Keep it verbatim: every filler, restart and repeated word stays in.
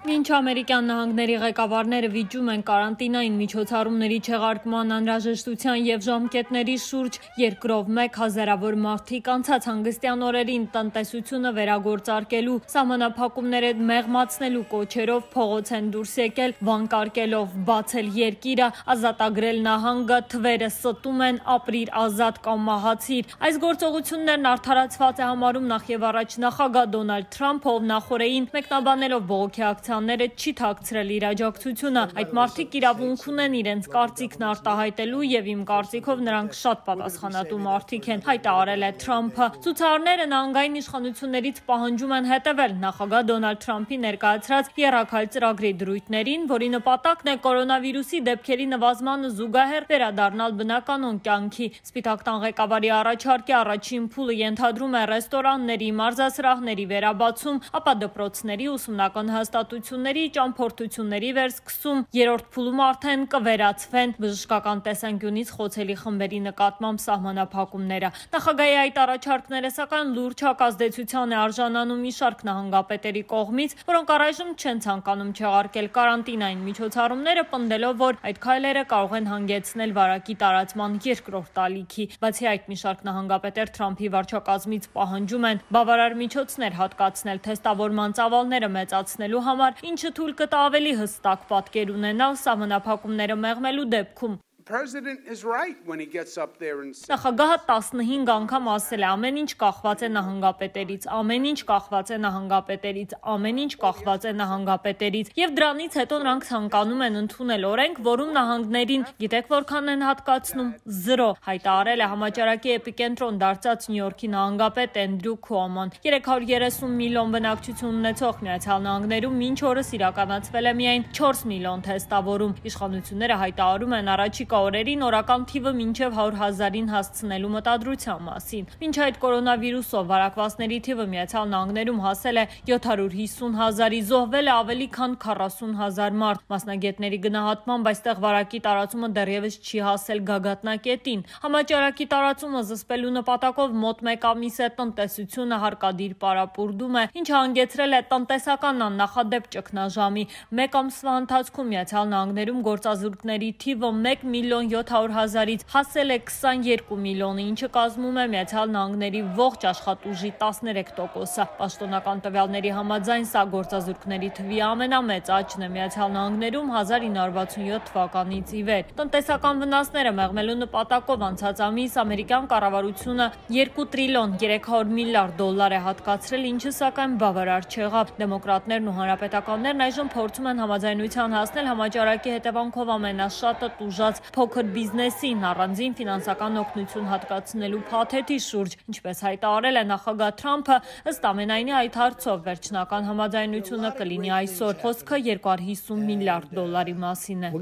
Մինչ ամերիկյան նահանգների ղեկավարները վիճում են կարանտինային միջոցառումների չեղարկման անհրաժեշտության և ժամկետների շուրջ, երկրով մեկ հազարավոր մարդիկ անցած հանգստյան օրերին տնտեսությունը վերագործարկելու, սահմանափակումները մեղմացնելու կոչերով փողոց են դուրս եկել, վանկարկելով բացել երկիրը, ազատագրել նահանգը, թվերը ստում են ապրիր ազատ կամ մահացիր։ Այս գործողություններն արդարացված է համարում նախ և առաջ նախագահ Դոնալդ Թրամփը, ով նախօրեին մեկնաբանելով բողոքի ակցիաները չի թաքցրել իր աջակցությունը։ Այդ մարդիկ իրավունք ունեն իրենց կարծիքն արտահայտելու և իմ կարծիքով նրանք շատ պատասխանատու մարդիկ են, հայտարարել է Թրամփը։ Ցուցարարները նահանգային իշխանություններից պահանջում են հետևել նախագահ Դոնալդ Թրամփի ներկայացրած եռակալ ծրագրի դրույթներին, որի նպատակն է կորոնավիրուսի դեպքերի նվազմանը զուգահեռ վերադառնալ բնականոն կյանքի։ Սպիտակ տան ղեկավարի առաջարկի առաջին փուլը ենթադրում է ռեստորանների, մարզասրահների վերաբացում, ապա դպրոցների, ուսումնական հաստատությունների, ճամփորդությունների վերսկսում, երրորդ փուլում արդեն կվերացվեն բժշկական տեսանկյունից խոցելի խմբերի նկատմամբ սահմանափակումները։ Նախագահի այդ առաջարկները սակայն լուրջ հակազդեցության է արժանանում մի շարք նահանգապետերի կողմից, որոնք առայժմ չեն ցանկանում չեղարկել կարանտինային միջոցառումները, պնդելով, որ այդ քայլերը կարող են հանգեցնել վարակի տարածման երկրորդ ալիքի։ Բացի այդ, մի շարք նահանգապետեր Թրամփի վարչակազմից պահանջում են բավարար միջոցներ հատկացնել թեստավորման ծավալները մեծացնելու համար, ինչը թույլ կտա ավելի հստակ պատկեր ունենալ սահմանափակումները մեղմելու դեպքում։ Նախագահը տասնհինգ անգամ ասել է՝ ամեն ինչ կախված է նահանգապետերից, ամեն ինչ կախված է նահանգապետերից, ամեն ինչ կախված է նահանգապետերից, և դրանից հետո նրանք ցանկանում են ընդունել օրենք, որում նահանգներին գիտեք որքան են հատկացնում՝ զրո, հայտարարել է համաճարակի էպիկենտրոն դարձած Նյու Յորքի նահանգապետ Էնդրյու Քուոմոն։ երեք հարյուր երեսուն միլիոն բնակչություն ունեցող Միացյալ Նահանգներում մինչ օրս իրականացվել է միայն չորս միլիոն թեստավորում։ Իշխանությունները հայտարարում են առաջիկա օրերին օրական թիվը մինչև հարյուր հազարին հասցնելու մտադրության մասին։ Մինչ այդ կորոնավիրուսով վարակվածների թիվը Միացյալ Նահանգներում հասել է յոթ հարյուր հիսուն հազարի, զոհվել է ավելի քան քառասուն հազար մարդ։ Մասնագետների գնահատմամբ այստեղ վարակի տարածումը դեռևս չի հասել գագաթնակետին։ Համաճարակի տարածումը զսպելու նպատակով մոտ մեկ ամիս է տնտեսությունը հարկադիր պարապուրդում է, ինչը հանգեցրել է տնտեսական աննախադեպ ճգնաժամի։ Մեկ ամսվա ընթացքում Միացյալ Նահանգներում գործազուրկների թիվը մեկ միլիոն յոթ հարյուր հազարից հասել է քսաներկու միլիոնի, ինչը կազմում է Միացյալ Նահանգների ողջ աշխատուժի տասներեք տոկոսը։ Պաշտոնական տվյալների համաձայն սա գործազուրկների թվի ամենամեծ աճն է Միացյալ Նահանգներում հազար ինը հարյուր վաթսունյոթ թվականից ի վեր։ Տնտեսական վնասները մեղմելու նպատակով անցած ամիս ամերիկյան կառավարությունը երկու տրիլիոն երեք հարյուր միլիարդ դոլար է հատկացրել, ինչը սակայն բավարար չեղավ։ Դեմոկրատներն ու հանրապետականներն այժմ փորձում են համաձայնության հասնել համաճարակի հետևանքով ամենաշատը տուժած փոքր բիզնեսին առանձին ֆինանսական օգնություն հատկացնելու փաթեթի շուրջ։ Ինչպես հայտարարել է նախագահ Թրամփը, ըստ ամենայնի այդ հարցով վերջնական համաձայնությունը կլինի այսօր։ Խոսքը երկու հարյուր հիսուն միլիարդ դոլարի մասին է։